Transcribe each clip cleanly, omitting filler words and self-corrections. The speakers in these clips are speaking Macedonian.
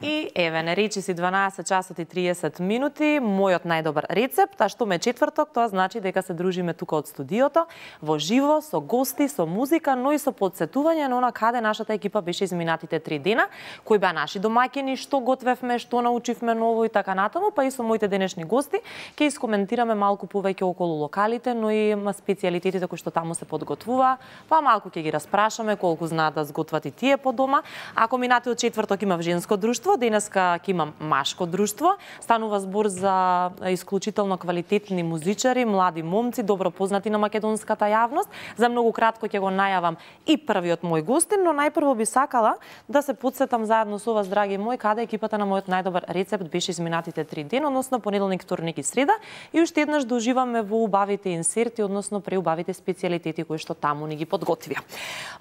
И еве, не речи си 12 часот и 30 минути, мојот најдобар рецепт, а што ме четврток, тоа значи дека се дружиме тука од студиото, во живо, со гости, со музика, но и со подсетување на она каде нашата екипа беше изминатите 3 дена, кои беа наши домаќини, што готвевме, што научивме ново и така натаму, па и со моите денешни гости ќе искоментираме малку повеќе околу локалите, но и специјалитетите кои што таму се подготвува, па малку ќе ги распрашаме колку знаат да сготват и тие по дома. Ако минатиот четврток имав женско друштво, денеска ќе имам машко друштво. Станува збор за исклучително квалитетни музичари, млади момци, добро познати на македонската јавност. За многу кратко ќе го најавам и првиот мој гостин, но најпрво би сакала да се подсетам заедно со вас, драги мои, каде екипата на мојот најдобар рецепт беше изминатите 3 дена, односно понеделник, вторник и среда, и уште еднаш да уживаме во убавите инсерти, односно преубавите специјалитети кои што таму ни ги подготвија.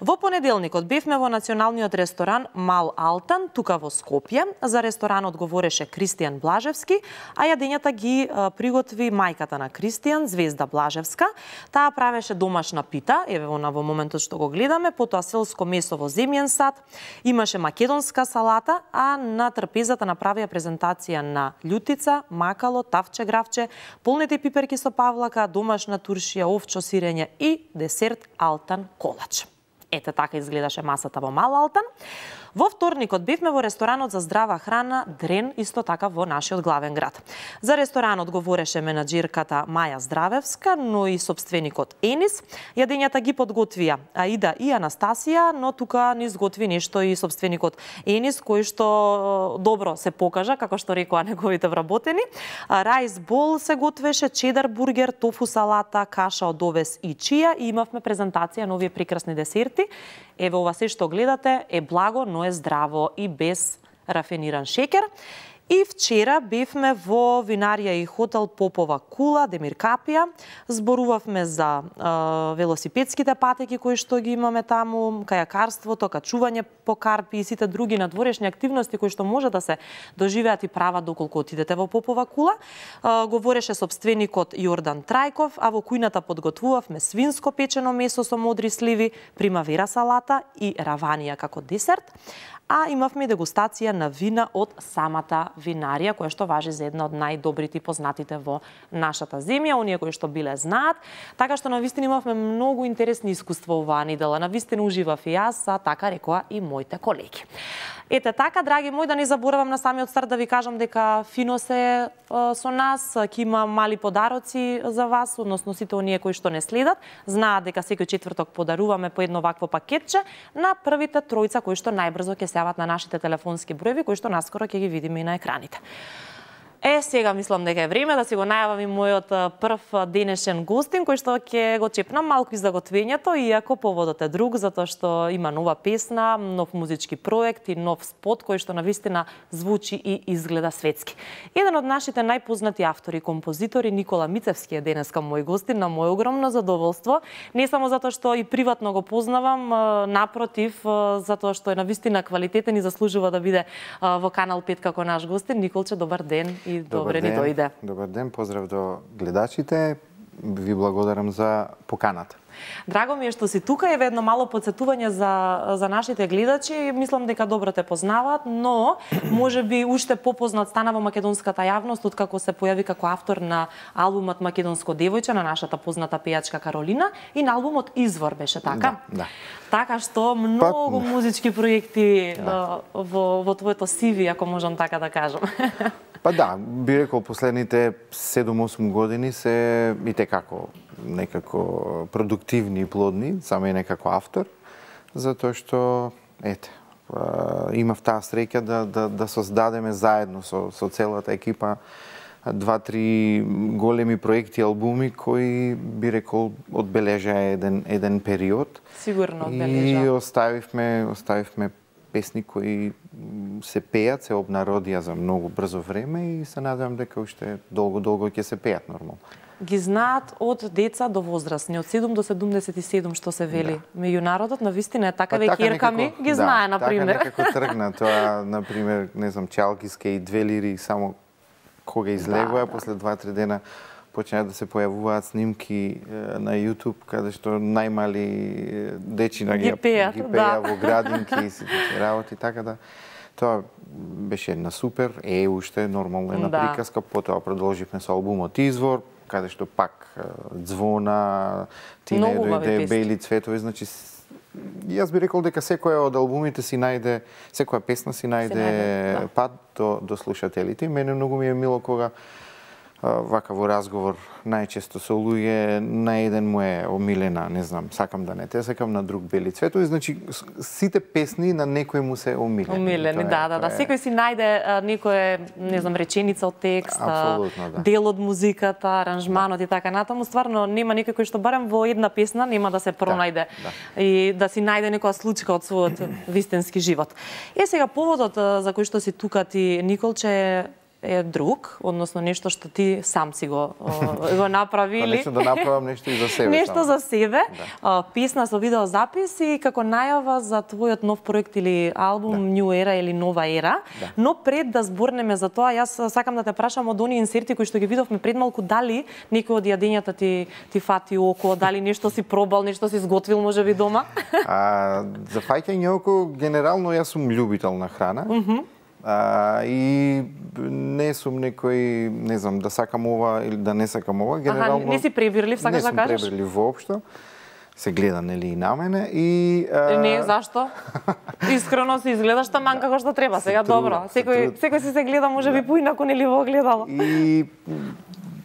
Во понеделникот бевме во националниот ресторан Мал Алтан, тука во Скопје. За ресторанот говореше Кристијан Блажевски, а јадењата ги приготви мајката на Кристијан, Звезда Блажевска. Таа правеше домашна пита, еве она во моментот што го гледаме, потоа селско месо во земјен сад, имаше македонска салата, а на трпезата направија презентација на љутица, макало, тавче, гравче, полнети пиперки со павлака, домашна туршија, овчо сирење и десерт Алтан колач. Ете така изгледаше масата во Мал Алтан. Во вторникот бевме во ресторанот за здрава храна Дрен, исто така во нашиот главен град. За ресторанот говореше менаџерката Маја Здравевска, но и собственикот Енис. Јадењата ги подготвија Аида и Анастасија, но тука ни изготви нешто и собственикот Енис, кој што добро се покажа, како што рекоа неговите вработени. Райс бол се готвеше, чедар бургер, тофу салата, каша од овес и чија, и имавме презентација на овие прекрасни десерти. Еве ова се што гледате е благо, но е здраво и без рафиниран шеќер. И вчера бевме во винарија и хотел Попова кула, Демир Капија. Зборувавме за велосипедските патеки кои што ги имаме таму, кајакарството, качување по карпи и сите други надворешни активности кои што може да се доживеат и прават доколку отидете во Попова кула. Говореше собственикот Јордан Трајков, а во кујната подготвувавме свинско печено месо со модри сливи, примавера салата и раванија како десерт. А имавме дегустација на вина од самата винарија, која што важи за една од најдобрите и познатите во нашата земја, оние кои што биле знаат. Така што навистина имавме многу интересни искуства оваа недела. Навистина уживав и јас, а така рекоа и моите колеги. Ете така, драги мои, да не заборавам на самиот старт да ви кажам дека фино се со нас, ќе има мали подароци за вас, односно сите оние кои што не следат, знаат дека секој четврток подаруваме по едно вакво пакетче на првите тројца кои што најбрзо ќе се јават на нашите телефонски броеви, кои што наскоро ќе ги видиме и на екраните. Сега мислам дека е време да си го најавам и мојот прв денешен гостин, кој што ќе го чепнам малку и за готвењето, иако поводот е друг, затоа што има нова песна, нов музички проект и нов спот кој што навистина звучи и изгледа светски. Еден од нашите најпознати автори и композитори, Никола Мицевски, е денеска мој гостин, на мој огромно задоволство. Не само затоа што и приватно го познавам, напротив, затоа што е навистина квалитетен и заслужува да биде во Канал 5 како наш гостин. Николче, добар ден. И добре ни дојде. Добар ден, поздрав до гледачите. Ви благодарам за поканата. Драго ми е што си тука, еве едно мало подсетување за нашите гледачи. Мислам дека добро те познаваат, но може би уште попознат стана во македонската јавност откако се појави како автор на албумот Македонско девојче на нашата позната пејачка Каролина и на албумот Извор беше така. Да. Така што многу музички проекти во твоето CV, ако можам така да кажам. Па да, би рекол последните 7-8 години се и како некако продуктивни и плодни, само и некако автор, затоа што имав таа среќа да создадеме заедно со целата екипа 2-3 големи проекти, албуми кои би рекол одбележаа еден период. Сигурно одбележаа. И оставивме песни кои се пеат, се обнародија за многу брзо време и се надевам дека уште долго ќе се пеат нормално. Ги знаат од деца до возрастни, од 7 до 77 што се вели. Меѓу народот навистина е така, веќе ми ги знае, например. Така некако тргна тоа, например, не знам, Чалкиска и Две лири, само кога излегоа, после 2-3 дена почнаа да се појавуваат снимки на YouTube, каде што најмали дечина ги пеа во градинки и сите работи, така да Тоа беше една супер, уште нормално една приказка, потоа продолживме со албумот Извор, каде што пак Звона, Ти не дојде, Бели цветови, значи јас би рекол дека секоја од албумите си најде, секоја песна си најде пат до слушателите. Мене многу ми е мило кога вака во разговор најчесто со луѓе на еден му е омилена, не знам, сакам да не те сакам, на друг Бели цветови, значи сите песни на некој му се омилени. Омилени, да. Секој си најде некоја, не знам, реченица од текст, дел од музиката, аранжманот и така натаму. Стварно нема никој кој што барем во една песна нема да се пронајде и да си најде некоја случка од својот вистински живот. Сега поводот за кој што си тука ти, Николче, е друг, односно нешто што ти сам си го направили. Нешто да направам нешто и за себе. Нешто за себе. Песна со видеозапис и како најава за твојот нов проект или албум New Era или Нова ера. Но пред да зборнеме за тоа, јас сакам да те прашам од оние инсерти кои што ги видовме пред малку, дали некој од јадењата ти фати око, дали нешто си пробал, нешто си изготвил можеби дома? За фаќање око, генерално јас сум љубител на храна. И не сум некој, не знам, да сакам ова или да не сакам ова, генерално. Не си пребирлив, сакаш да кажеш? Не сум пребирлив воопшто. Се гледа нели и на мене и Не, зашто? Искрено се изгледаш таман како што треба. Сега добро. Секој си се гледа можеби поинаку нели во огледало. И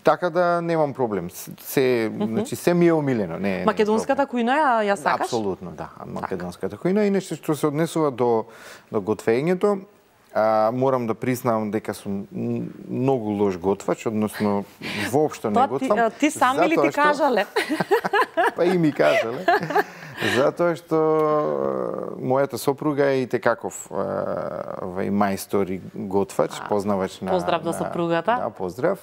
така да немам проблем. Значи се ми е омилено, не. Македонската кујна ја сакаш? Апсолутно, да. Македонската кујна и нешто што се однесува до готвењето. Морам да признавам дека сум многу лош готвач, односно воопшто не готвам. Ти сам или ти кажале? Па и ми кажале. Затоа што мојата сопруга е и текаков мајстор и готвач, познавач на... Поздрав до сопругата. Да, поздрав.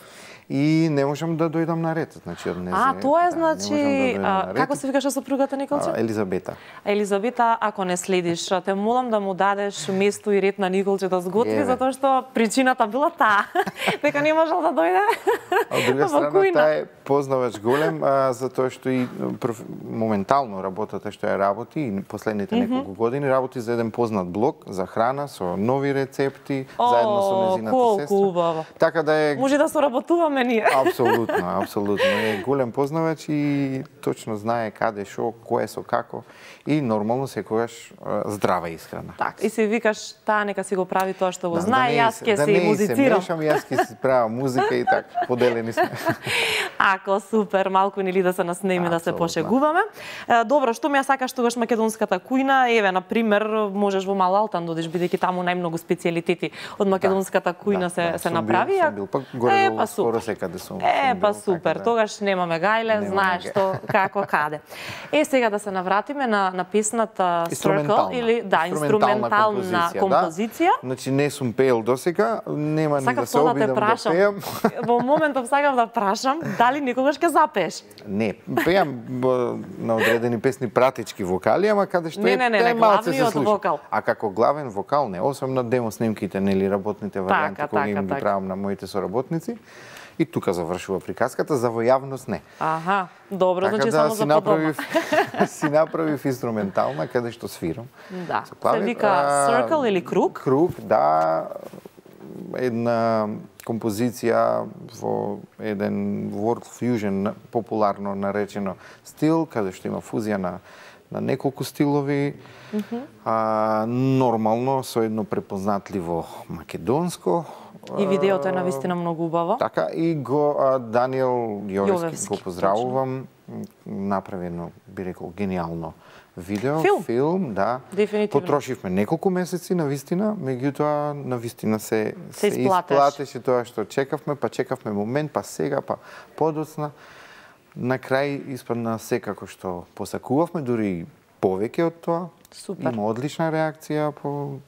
И не можам да дојдам на ред, значи од незе. Тоа е, значи, како се викаше сопругата, Николче? Елизабета. Елизабета, ако не следиш, те молам да му дадеш место и ред на Николче да сготви, затоа што причината била таа, дека не можел да дојде. Од друга страна, таа е познавач голем, затоа што и моментално работата што ја работи и последните неколку години работи за еден познат блог за храна со нови рецепти, заедно со незината сестра. Убаво. Така да е... Може да соработуваме ние. Апсолутно. Е голем познавач и точно знае каде, шо, кое со како и нормално секогаш здрава исхрана. Так, и си викаш, таа нека си го прави тоа што го знае, јас ќе си музицирам. Да не се мешам, јас ќе си правам музика и така, поделени сме. Ако супер, малку нели да се наснеме, да се пошегуваме. Добро, што ми ја сакаш тогаш македонската кујна? Еве, на пример, можеш во Мал Алтан додиш, бидејќи таму најмногу специјалитети од македонската кујна се направи. Сум бил, пак горе скоро секаде сум. Па супер, тогаш немаме гајле, знаеш што, како, каде. Сега да се навратиме на песната Circle, или инструментална композиција. Значи не сум пеел досега, нема ни да се обидам да пеам. Во моментов сакам да прашам, дали никогаш ќе запееш? Не, пеам на одредени песни пратички вокали, ама каде што не, главниот вокал. А како главен вокал не, освен на демо снимките, нели работните варијанти кои им ги правам на моите соработници. И тука завршува приказката, за во јавност не. Добро, значи само за подома. Си направив инструментална, каде што свирам. Да, се вика Circle или Круг? Круг, да. Една композиција во еден world fusion, популарно наречено стил, каде што има фузија на неколку стилови. Нормално, со едно препознатливо македонско. И видеото е навистина многу убаво. Така, и Даниел Јовевски го поздравувам. Направи едно, би рекол, гениално видео, филм, да. Дефинитивно. Потрошивме неколку месеци, навистина, меѓутоа, навистина се исплатеше тоа што чекавме, па чекавме момент, па сега, па подоцна. На крај испадна секако што посакувавме, дури повеќе од тоа. Супер. Има одлична реакција по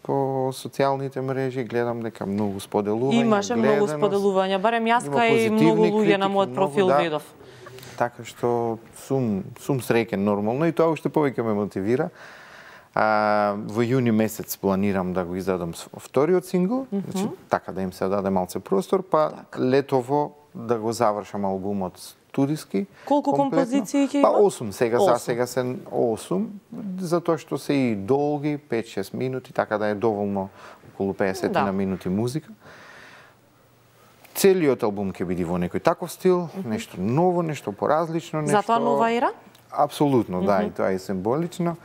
социјалните мрежи, гледам дека многу споделување. Имаше многу споделувања, барем јас кај многу луѓе на мојот профил видов. Така што сум среќен нормално и тоа уште повеќе ме мотивира. Во јуни месец планирам да го издадам вториот сингл, значи така да им се даде малце простор, па летово да го завршам албумот студиски. Колку композиции ќе има? Па 8, сега се 8, затоа што се и долги, 5-6 минути, така да е доволно околу 50 на минути музика. Целиот албум ќе биде во некој таков стил, нешто ново, нешто поразлично, нешто... Затоа нова ера? Апсолутно, да, и тоа е символично.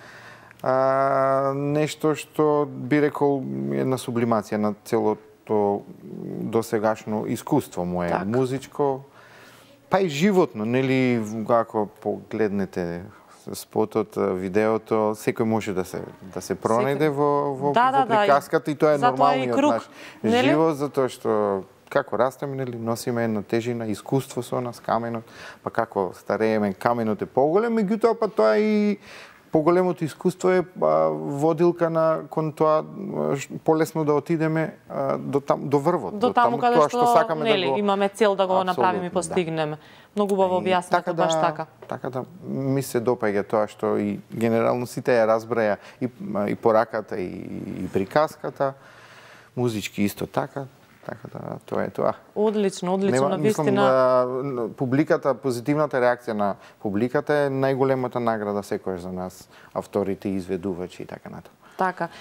Нешто што би рекол една сублимација на целото досегашно искуство мое, музичко, па и животно, нели, ако погледнете спотот, видеото, секој може да се пронајде во приказката и тоа е нормалниот наш живот, затоа што како растеме, нели, носиме една тежина, искуство со нас, каменот, па како старееме, каменот е поголем, меѓутоа па тоа и поголемото искуство е водилка кон тоа полесно да отидеме до врвот, до таму каде што сакаме да го имаме цел да го направиме и постигнеме. Многу убаво објаснато, баш така. Така да ми се допаѓа тоа што и генерално сите ја разбраја и пораката и приказката, музички исто така. Така да, тоа е тоа. Одлично, на вистина. Публиката, позитивната реакција на публиката е најголемата награда секојаш за нас, авторите, изведувачи и така натаму. Така.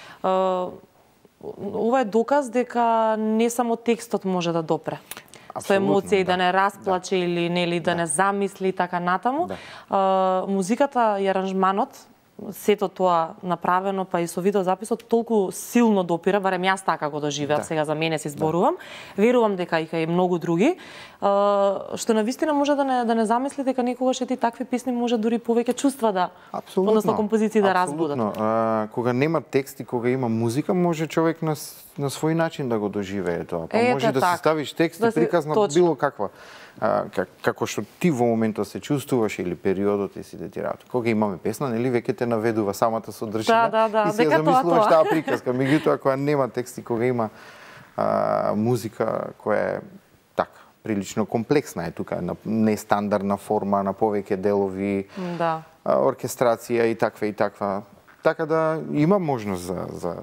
Ова е доказ дека не само текстот може да допре со емоција и да не расплаче или нели да не замисли и така натаму. Музиката и аранжманот, сето тоа направено, па и со видеозаписот, толку силно допира, барем јас така го доживеав, сега за мене се зборувам. Верувам дека и многу други, што навистина може да не замисли дека некогаш ти такви песни може дури повеќе чувства да, односно композиции да разбудат. Кога нема текст и кога има музика, може човек на свој начин да го доживее тоа. Па може да се ставиш текст и приказ на било каква како што ти во моментот се чувствуваш или периодот и си детирато. Кога имаме песна, нели веќе те наведува самата содржина и си ја замислуваш таа приказка. Меѓутоа кога нема текст и кога има музика која е така прилично комплексна е тука, нестандардна форма, на повеќе делови, оркестрација и таква. Така да има можност за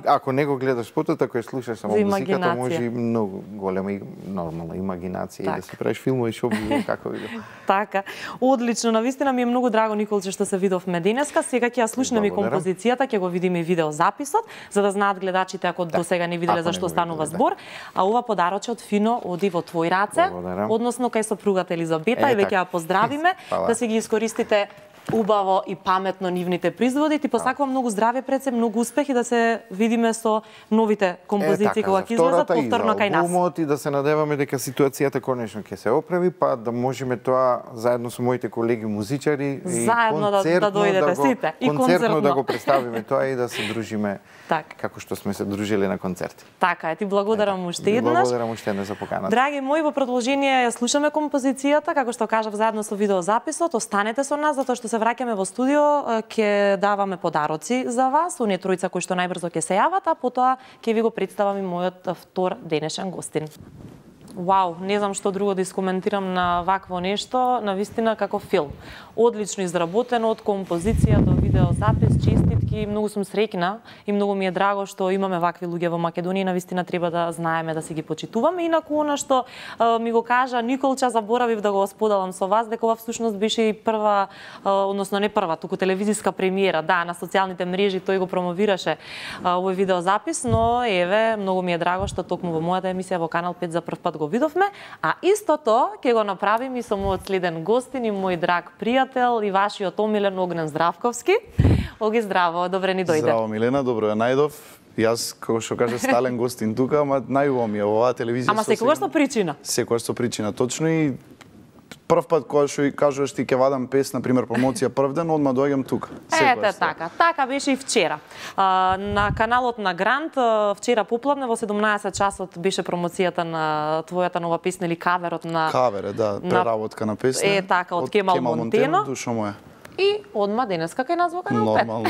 ако не го гледаш спотот, ако ја слушаш само музиката, може и многу голема и нормална имагинација и да си правиш филмови што било како биде. Така. Одлично, навистина ми е многу драго, Николче, што се видовме денеска. Сега ќе ја слушнеме и композицијата, ќе го видиме и видеозаписот, за да знаат гледачите ако досега не виделе за што станува збор. А ова подароче од Фино оди во твои раце, односно кај сопругата Елизабета, и веќе ја поздравиме, да си ги искористите убаво и паметно нивните производи. Ти посакувам многу здравје пред се, многу успех и да се видиме со новите композиции кога ќе излезат повторно кај нас. И да се надеваме дека ситуацијата конечно ќе се оправи, па да можеме тоа заедно со моите колеги музичари и концертно да го представиме тоа и да се дружиме како што сме се дружили на концерти. Така е, ти благодарам уште еднаш. Благодарам уште еднаш за поканата. Драги мои, во продолжение ја слушаме композицијата, како што кажав заедно со видеозаписот. Останете со нас затоа што се враќаме во студио, ќе даваме подароци за вас, оние тројца кои што најбрзо ќе се јават, а потоа ќе ви го представам и мојот втор денешен гостин. Вау, не знам што друго да искоментирам на вакво нешто, навистина како филм. Одлично изработено, од композиција до видеозапис, честитки, многу сум среќна и многу ми е драго што имаме вакви луѓе во Македонија, навистина треба да знаеме да си ги почитуваме. Инаку она што ми го кажа Николча, заборавив да го споделам со вас, дека ова всушност беше и прва, односно не прва, туку телевизиска премиера, на социјалните мрежи тој го промовираше овој видеозапис, но еве, многу ми е драго што токму во мојата емисија во Канал 5 за прв пат го видовме, а истото ќе го направим и со мојот следен гостин и мој драг пријател и вашиот омилен Огнен Здравковски. Оги, здраво, добре ни дојде. Здраво, Милена, добро ја најдов. Јас, како што кажа, стален гостин тука, ама најубаво ми е оваа телевизија. Ама секогаш со причина. Секогаш со причина, точно, и прв пат кога што кажуваш ти ќе вадам песна, например, промоција прв ден, одма доаѓам тука. Ете така. Така беше и вчера. На каналот на Грант вчера попладне во 17 часот беше промоцијата на твојата нова песна или каверот на преработка на песна. Така, од Кемал Монтено. Душо моја. И одма денеска кај нас во Канал 5. Нормално,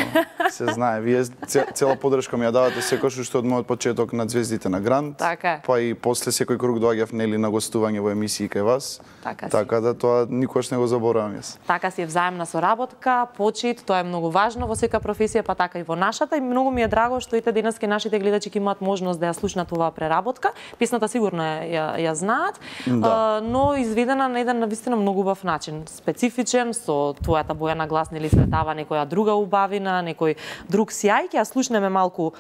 се знае. Вие цела поддршка ми ја давате секојаш уште од мојот почеток на Звездите на Грант. Така е. Па и после секој круг доаѓав нели на гостување во емисии кај вас. Така да тоа никогаш не го заборавам јас. Така си е взаемна соработка, почит, тоа е многу важно во секоја професија, па така и во нашата. И многу ми е драго што ите денеска нашите гледачи ќе имаат можност да ја слушнат оваа преработка. Песната сигурно ја знаат, но изведена на еден навистина многу убав начин, специфичен, со твојата боја на глас нели светава некоја друга убавина, некој друг сјај. Ќе ја слушнеме малку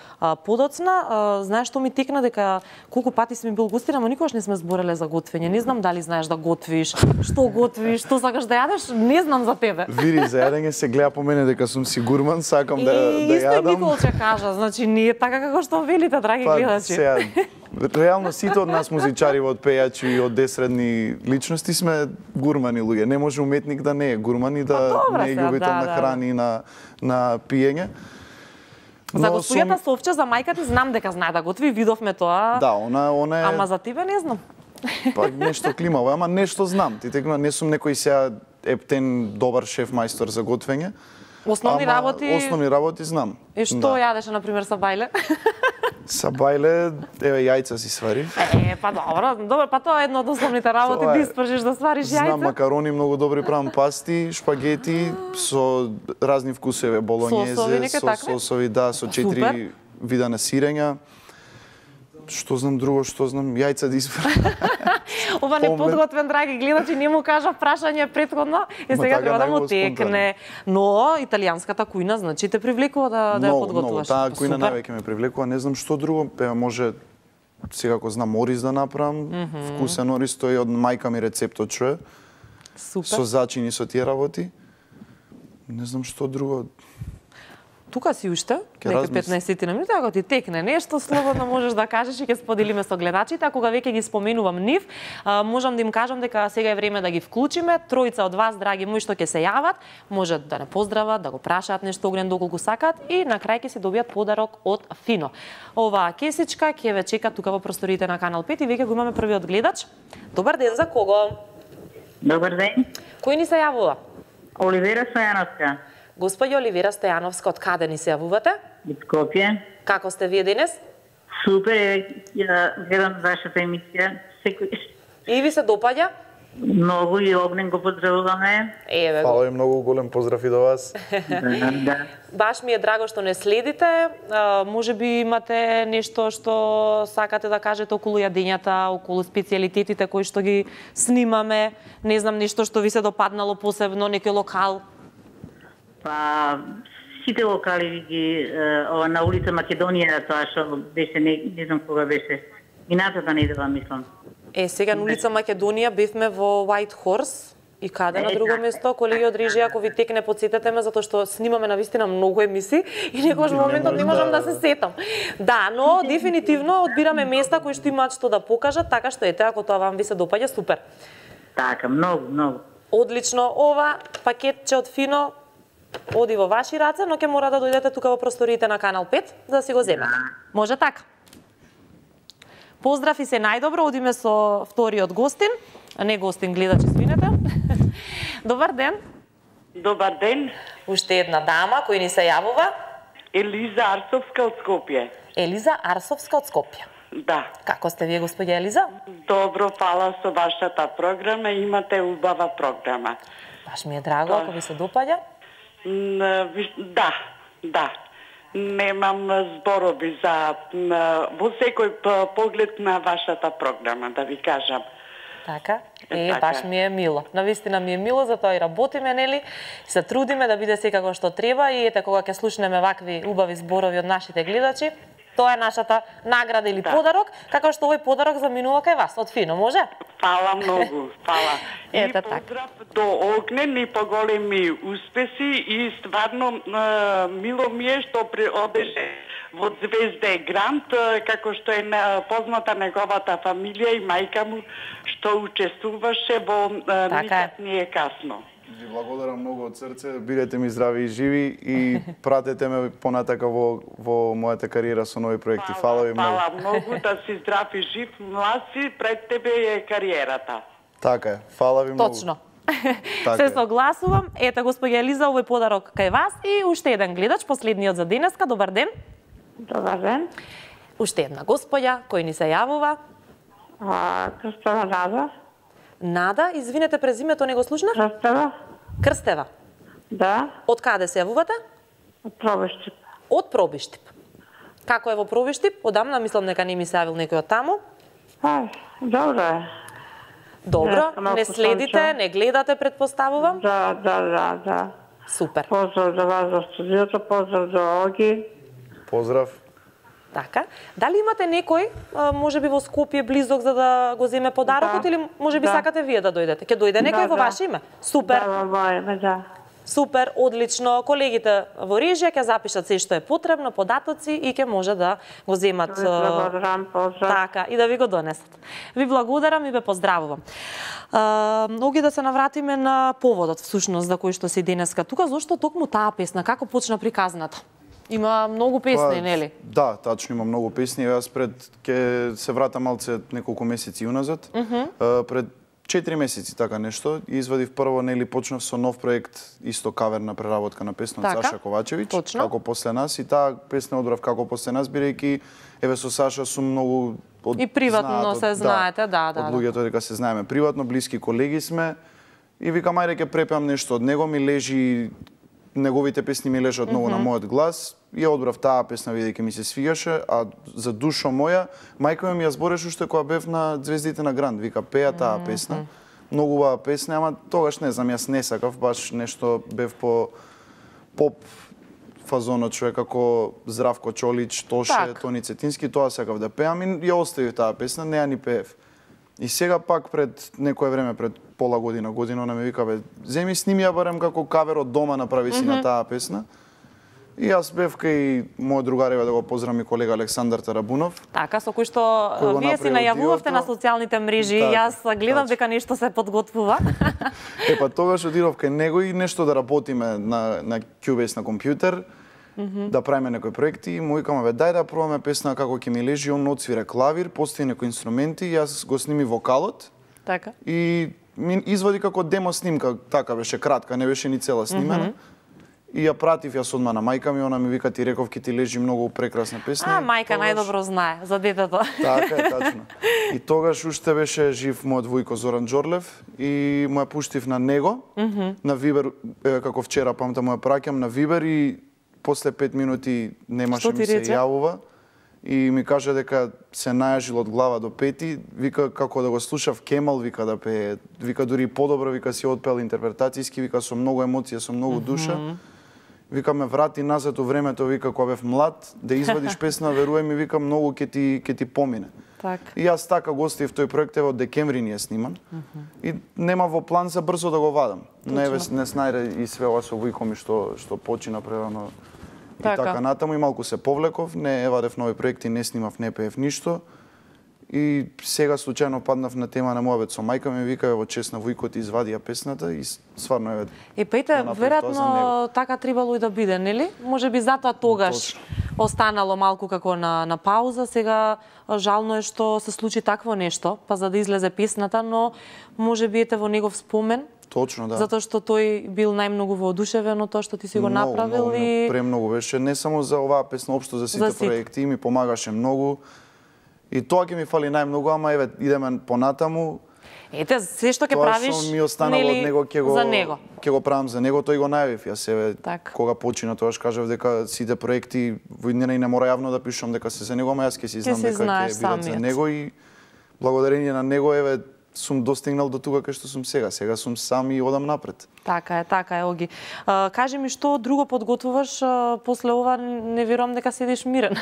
подоцна. Знаеш што ми текна дека колку пати сме бил гостин, ама никогаш не сме збореле за готвење. Не знам дали знаеш да готвиш, што сакаш да јадеш, не знам за тебе. Види, за јадење се гледа по мене дека сум си гурман, сакам да јадам. Исто Николче кажа, значи не е така како што велите, драги гледачи. Реално сите од нас музичари, од пејачи и од десредни личности сме гурмани луѓе. Не може уметник да не е гурман и да не е љубител на храни и на пиење. За господјата Совче, за мајка ти знам дека знае да готви, видовме тоа. Да, она е... Ама за тебе не знам. Па нешто климаво, ама нешто знам. Ти текна, не сум некој сега ептен добар шеф мајстор за готвење. Основни работи знам. И што јадеше на пример са бајле? Са бајле, еве јајца си сварив. Па добро, па тоа е едно од основните работи, да испржиш да свариш јајца. Знам макарони многу добри правам, пасти, шпагети со разни вкусови, болонјезе, со сосови, да, со 4 вида на сирења. Што знам друго, јајца да испржам. Ова неподготвен, драги гледачи, не му кажа прашање претходно и сега треба да му текне. Но италијанската кујна, значи те привлекува да ја подготвуваш. Таа кујна највеќе ме привлекува, не знам што друго, може сега ако знам ориз да направам, вкусен ориз, тој од мајка ми рецептот чуе. Супер. Со зачини со тие работи. Не знам што друго. Тука си уште, нека 15 минути, ако ти текне нешто, слободно можеш да кажеш и ќе споделиме со гледачите. А кога веќе ги споменувам нив, можам да им кажам дека сега е време да ги вклучиме. Тројца од вас, драги мои, што ќе се јават, можат да не поздрават, да го прашаат нешто огнен доколку сакаат и на крај ќе си добијат подарок од Фино. Оваа кесичка ќе ве чека тука во просториите на Канал 5 и веќе го имаме првиот гледач. Добар ден, за кого? Добар ден. Кој ни се јавува? Оливера Стојановска. Господи Оливера Стојановска, од каде ни се јавувате? Од Скопје. Како сте вие денес? Супер, ја гледам вашата емисија секој. И ви се допаѓа? Многу и огнен го поздравуваме. Еве го. Фала и многу голем поздрав и до вас. Да. Баш ми е драго што не следите. Може би имате нешто што сакате да кажете околу јадењата, околу специјалитетите кои што ги снимаме. Не знам, нешто што ви се допаднало посебно, некој локал. Па сите локали ги на улица Македонија, тоа што беше не знам кога беше. Минатата недела мислам. Сега на улица Македонија бевме во White Horse и каде на друго место, колеги од режија, ако ви текне потсетете ме затоа што снимаме навистина многу емисии и некојаш моментот не можам да се сетам. Да, но дефинитивно одбираме места кои што имаат што да покажат, така што ете ако тоа вам ви се допаѓа, супер. Така, многу. Одлично, ова пакетче од Фино оди во ваши раце, но ќе мора да дојдете тука во просториите на Канал 5 да си го земете. Може така? Поздрав и се најдобро, одиме со вториот гостин, а не гостин, гледач, извинете. Добар ден. Добар ден. Уште една дама, кој ни се јавува? Елиза Арсовска од Скопје. Елиза Арсовска од Скопје. Да. Како сте вие, господја Елиза? Добро, фала со вашата програма, имате убава програма. Баш ми е драго, ако ви се допаѓа. Да. Немам зборови за во секој поглед на вашата програма, да ви кажам. Така? Баш ми е мило. Навистина ми е мило, затоа и работиме, нели? Се трудиме да биде секако што треба и ете кога ќе слушнеме вакви убави зборови од нашите гледачи, тоа е нашата награда или подарок, како што овој подарок заминува кај вас од Фино, може? Фала многу, фала. И така. поздрав до Огнен и поголеми успеси и стварно мило ми е што одеше во Звезде Грант, како што е позната неговата фамилија и мајка му што учествуваше во Никад не е касно. Ви благодарам многу од срце, бидете ми здрави и живи и пратете ме понатака во мојата кариера со нови проекти. Фала ви многу. Фала многу, да си здрав и жив, млад си, пред тебе е кариерата. Така е, фала ви многу. Точно. Се согласувам. Ете, господја Елиза, овој подарок кај вас и уште еден гледач, последниот за денеска. Добар ден. Добар ден. Уште една господја, кој ни се јавува? Крстева Нада. Нада, извинете, презимето не го слушнав? Крстева. Крстева? Да. Од каде се јавувате? Од Пробиштип. Од Пробиштип. Како е во Пробиштип? Одамна мислам дека не ми се јавил некој од таму. Добро е. Добро, не следите, не гледате, предпоставувам? Да. Супер. Поздрав за вас за студиото, поздрав за Оги. Поздрав. Така. Дали имате некој, можеби во Скопје близок за да го земе подарокот или можеби сакате вие да дојдете? Ќе дојде некој во ваше име? Супер. Да, во моје име, да. Супер, одлично. Колегите во режија ќе запишат се што е потребно, податоци и ќе може да го земат. Така, и да ви го донесат. Ви благодарам и ве поздравувам. Оги да се навратиме на поводот, всушност, за кој што си денеска тука. Зошто токму таа песна? Како почна приказната? Има многу песни, нели? Да, тачно има многу песни. Јас ќе се вратам малце неколку месеци уназад. Пред 4 месеци така нешто извадив прво, нели, почнав со нов проект, исто каверна преработка на песна од Саша Ковачевиќ, како после нас, и таа песна одбрав како после нас, бидејќи еве со Саша сум многу и приватно се знаете, од луѓето дека се знаеме приватно, блиски колеги сме, и викам ајде ќе препеам нешто од него, ми лежи, неговите песни ми лежат многу на мојот глас, и одбрав таа песна бидејќи ми се свигаше, а за душо моја, мајка ми ја збореше уште кога бев на Звездите на Гранд, вика пеа таа песна. Многу убава песна, ама тогаш не знам, јас не сакав, баш нешто бев по поп фазонот, човек како Здравко Чолич, Тоше, Тони Цетински, тоа сакав да пеам и ја оставив таа песна, не ја ни пеев. И сега пак пред некое време, пред пола година, она ме вика, бе, земи сними ја барем како кавер од дома, направи си на таа песна. И јас бев кај мој другари, да го поздравам и колега Александар Тарабунов. Така, со кој што вие си најавувавте на социјалните мрежи, јас гледам дека нешто се подготвува. Па тогаш одидов кај него и нешто да работиме на Cubase на компјутер, да правиме некои проекти, и му викаме, бе, дај да пробаме песна како ќе ми лежи, он отсвира клавир, постои некои инструменти, јас го сними вокалот. Така. И ми извади како демо снимка, така беше кратка, не беше ни цела снимена. И ја пратив јас одма на мајка ми, она ми вика, ти реков ке ти лежи многу прекрасна песна. Мајка најдобро знае за детето. Така е, тачно. И тогаш уште беше жив мојот вујко Зоран Џорлев и му ја пуштив на него, на Вибер, како вчера памтам му ја праќам на Вибер, и после 5 минути немаше ми се јавува и ми кажа дека се најажил од глава до пети, вика како да го слушав Кемал, вика да пее, вика дури подобро, вика си отпел интерпретацијски, вика со многу емоција, со многу душа. Вика ме врати назад во времето, вика кога бев млад, да извадиш песна, веруј ми, вика многу ќе ти помине. И јас така гостив тој проект, од декември ни е сниман. И нема во план за брзо да го вадам. Не снајде и све ова со вујко ми што почина прерано и така натаму, и малку се повлеков, не вадев нови проекти, не снимав, не пеев ништо. И сега случајно паднав на тема на мојот со мајка ми, вика во чест на вујкот извади ја песната и стварно е. Пејте, веројатно така требало и да биде, нели? Можеби затоа тогаш останало малку како на пауза, сега жално е што се случи такво нешто, па за да излезе песната, но можеби ете во негов спомен. Точно, да. Затоа што тој бил најмногу воодушевен од тоа што ти си го направил и премногу беше, не само за оваа песна, општо за сите проекти, ми помагаше многу. И тоа ќе ми фали најмногу, ама еве идеме понатаму. Ете, се што ќе правиш, тоа што ми останало од него ќе го правам за него, тој го најавив. Јас еве кога почина тоаш кажав дека сите проекти во иднина и не мора јавно да пишам дека се за него, ама јас ќе си знам дека ќе бидат за него, и благодарение на него еве сум достигнал до тука кај што сум сега. Сега сум сам и одам напред. Така е, Оги. Кажи ми, што друго подготвуваш после ова? Не верувам дека седиш мирен.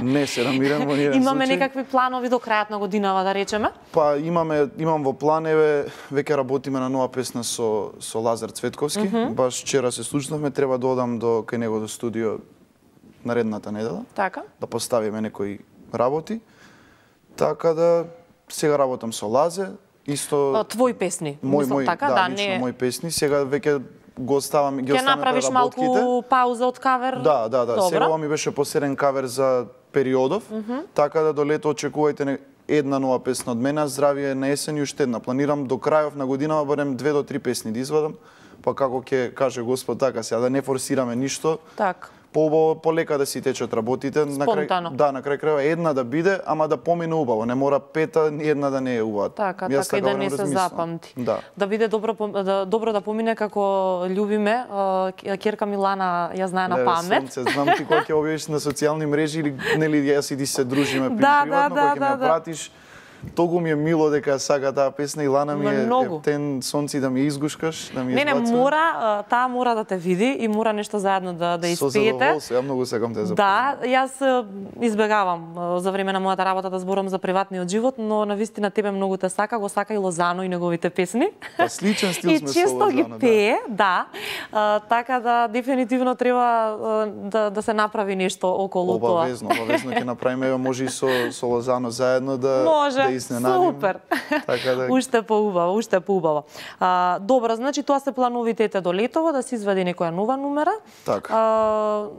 Не седам мирен во ниеден случај. Имаме некакви планови до крајот на годинава, да речеме? Па имам во план, еве веќе работиме на нова песна со Лазар Цветковски. Баш вчера се случнавме, треба да одам кај него до студио наредната недела. Така. Да поставиме некои работи. Така да сега работам со Лазе. Исто твои песни, мислам така, да, лично мои песни. Сега веќе го оставам, ги оставаме преработките. Ќе направиш малку пауза од кавер? Да. Сега ова ми беше последен кавер за периодов, така да до лето очекувајте една нова песна од мене, Здравие на есен и уште една. Планирам до крајов на годинава барем 2 до 3 песни да извадам, па како ќе каже Господ така сега да не форсираме ништо. Так. Поубаво, полека да си течат работите. Спонтано. На крај крајва една да биде, ама да помине убаво. Не мора пета, ни една да не е убава. Така и да не се запамти. Да биде добро да помине како љубиме. Ќерка Милана ја знае на памет. Знам ти кога ќе објавиш на социјални мрежи или нели јас и ти се дружиме приватно, кога ќе ме пратиш. Тогу ми е мило дека сака таа песна и Лана ми е тен сонци да ми изгушкаш, да ми избацува. Не, мора, таа мора да те види и мора нешто заедно да испеете. Со задоволство, ја многу сакам те запомнам. Да, јас избегавам за време на мојата работа да зборам за приватниот живот, но навистина тебе многу те сака, го сака и Лозано и неговите песни. Па сличен стил сме со Лозано. И често ги пее, да. Така да дефинитивно треба да се направи нешто околу тоа. Обавезно ќе направиме, може и со Лозано заедно да изненадим. Супер. Така да... Уште поубаво. Добро, значи тоа се плановитете до летово, да се извади некоја нова номера. Така.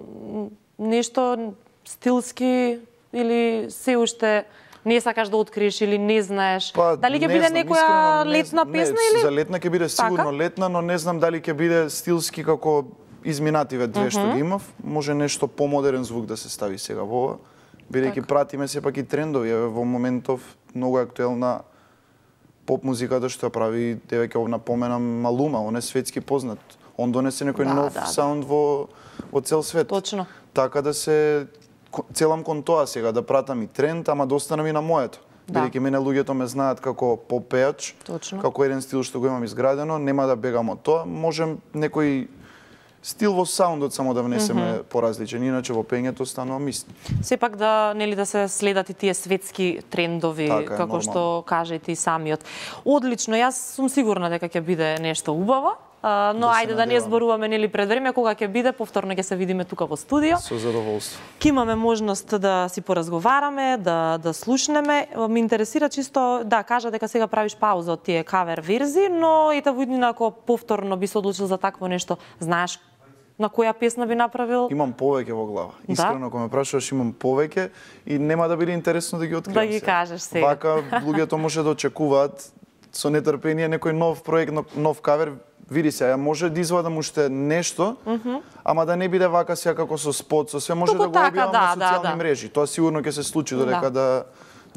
Нешто стилски или се уште не сакаш да откриеш или не знаеш? Дали ќе биде некоја летна песна или? За летна ќе биде сигурно летна, но не знам дали ќе биде стилски како изминативе две што ги имав. Може нешто помодерен звук да се стави сега во ова. Бидејќи пратиме сепак и трендови, во моментов многу актуелна поп музиката што ја прави, еве ќе напоменам Малума, он е светски познат. Он донесе некој нов саунд во цел свет. Точно. Така да се целам кон тоа сега, да пратам и тренд, ама да останам и на моето. Бидејќи мене луѓето ме знаат како поп-пеач, како еден стил што го имам изградено, нема да бегам од тоа, можем некој стил во саундот само да внесеме поразличен, иначе во пењето станува ист. Сепак да да се следат и тие светски трендови, така, како што кажете и самиот. Одлично, јас сум сигурна дека ќе биде нешто убаво. Но ајде да не зборуваме нели пред време, кога ќе биде, повторно ќе се видиме тука во студио. Со задоволство. Ќе имаме можност да си поразговараме, да слушнеме. Ме интересира чисто, кажа дека сега правиш пауза од тие кавер верзии, но ете во иднина ако повторно би се одлучил за такво нешто, знаеш на која песна би направил? Имам повеќе во глава. Искрено, кога ме прашуваш, имам повеќе и нема да биде интересно да ги откриам. Да ги кажеш сега. Вака луѓето може да очекуваат со нетрпение некој нов проект, нов кавер. Види се, ја може да извадам уште нешто, ама да не биде вака сега како со спот, со све може да го објавам на социјални мрежи. Тоа сигурно ќе се случи додека да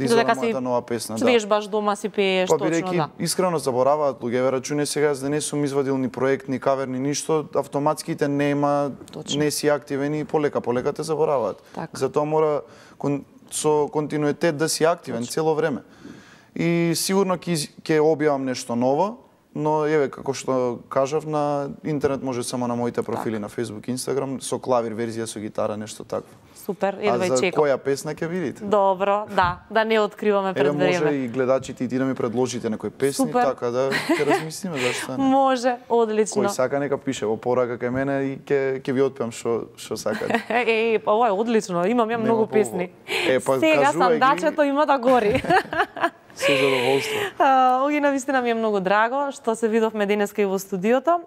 извадам мојата нова песна. Свежбаш дома си пееш, точно, бидејќи искрено забораваат луѓе, рачуне сега да не сум извадил ни проект, ни кавер, ни ништо, автоматските нема, не си активен и полека те забораваат. Затоа мора со континуитет да си активен цело време. И сигурно ќе објавам нешто ново, но еве како што кажав, на интернет може само на моите профили на Facebook и Instagram, со клавир верзија, со гитара, нешто такво. Супер, едва и чекам. А за која песна ќе видите? Добро, да не откриваме пред време. Може и гледачите и ти да ми предложите некои песни, така да ќе размислиме зашто не. Може, одлично. Кој сака нека пише во порака кај мене и ќе ви отпеам што сакате. Па ова е одлично, имам ја многу песни. Па сега сандачето има да гори. Со задоволство. Оги навистина ми е многу драго што се видовме денеска и во студиото.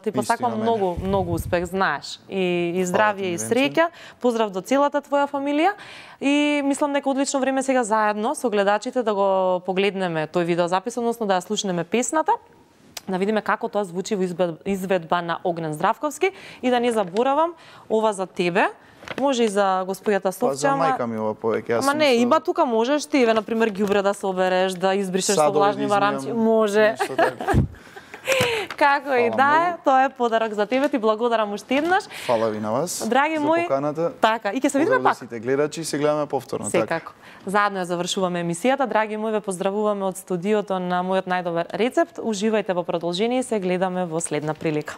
Ти посакувам многу успех, знаеш. И здравје и среќа. Поздрав до целата твоја фамилија. И мислам дека одлично време сега заедно со гледачите да го погледнеме тој видеозапис, односно да ја слушнеме песната, да видиме како тоа звучи во изведба на Огнен Здравковски и да не заборавам ова за тебе. Може и за господјата Совче, ама... За мајка ми ова повеќе. Ама не, има тука можеш ти, еве, например, ѓубре да собереш, да избришеш со влажни варамци. Може. Како и да е, тоа е подарок за тебе, ти благодарам уште еднаш. Фала ви на вас. Драги мои, за поканата. Така, и ќе се видиме пак. Сите гледачи, се гледаме повторно. Секако. Заедно ја завршуваме емисијата. Драги мои, ве поздравуваме од студиото на мојот најдобар рецепт. Уживајте во продолжение и се гледаме во следна прилика.